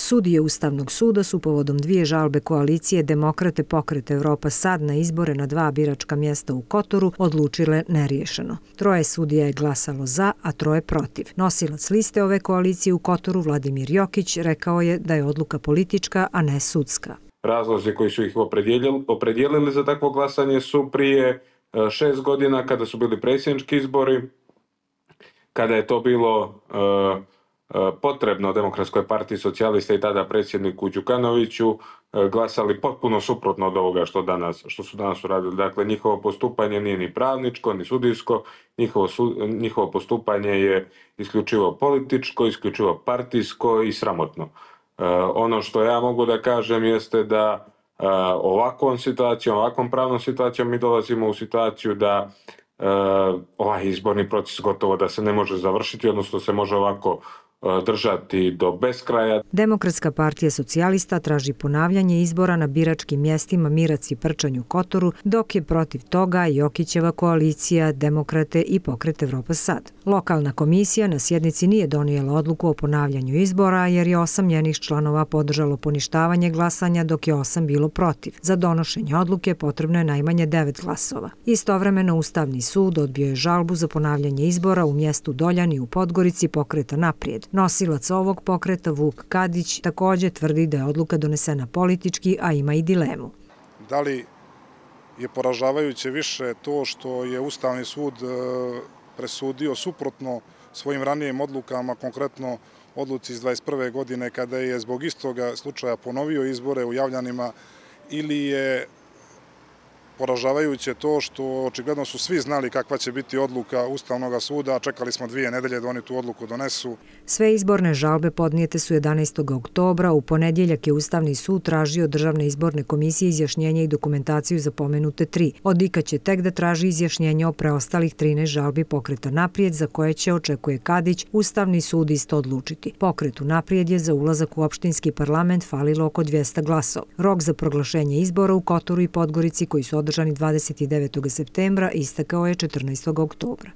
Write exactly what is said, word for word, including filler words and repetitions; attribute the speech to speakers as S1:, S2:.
S1: Sudije Ustavnog suda su povodom dvije žalbe koalicije Demokrate Pokret Evropa Sad na izbore na dva biračka mjesta u Kotoru odlučile neriješeno. Troje sudija je glasalo za, a troje protiv. Nosilac liste ove koalicije u Kotoru, Vladimir Jokić, rekao je da je odluka politička, a ne sudska.
S2: Razlozi koji su ih opredijelili, opredijelili za takvo glasanje su prije šest godina kada su bili predsjednički izbori, kada je to bilo uh, potrebno Demokratskoj partiji socijalista i tada predsjedniku Đukanoviću, glasali potpuno suprotno od ovoga što, danas, što su danas uradili. Dakle, njihovo postupanje nije ni pravničko, ni sudijsko, njihovo, su, njihovo postupanje je isključivo političko, isključivo partijsko i sramotno. Ono što ja mogu da kažem jeste da ovakvom situacijom, ovakvom pravnom situacijom mi dolazimo u situaciju da ovaj izborni proces gotovo da se ne može završiti, odnosno se može ovako držati do beskraja.
S1: Demokratska partija socijalista traži ponavljanje izbora na biračkim mjestima Mirac i Prčanj u Kotoru, dok je protiv toga Jokićeva koalicija Demokrate i Pokret Evropa Sad. Lokalna komisija na sjednici nije donijela odluku o ponavljanju izbora jer je osam njenih članova podržalo poništavanje glasanja, dok je osam bilo protiv. Za donošenje odluke potrebno je najmanje devet glasova. Istovremeno Ustavni sud odbio je žalbu za ponavljanje izbora u mjestu Doljani u Podgorici Pokreta Naprijed. Nosilac ovog pokreta, Vuk Kadić, također tvrdi da je odluka donesena politički, a ima i dilemu.
S3: Da li je poražavajuće više to što je Ustavni sud presudio suprotno svojim ranijim odlukama, konkretno odluci iz dvadeset prve godine kada je zbog istoga slučaja ponovio izbore u Javljanima, ili je poražavajuće to što očigledno su svi znali kakva će biti odluka Ustavnog suda, a čekali smo dvije nedelje da oni tu odluku donesu.
S1: Sve izborne žalbe podnijete su jedanaestog oktobra. U ponedjeljak je Ustavni sud tražio od Državne izborne komisije izjašnjenje i dokumentaciju za pomenute tri. Od I K A će tek da traži izjašnjenje o preostalih trinaest žalbi Pokreta Naprijed, za koje će, očekuje Kadić, Ustavni sud isto odlučiti. Pokretu Naprijed je za ulazak u opštinski parlament falilo oko dvjesto glasova. Rok za proglašenje izbora u Kotoru i Podgorici, koji su održani dvadeset devetog septembra, istekao je četrnaestog oktobra.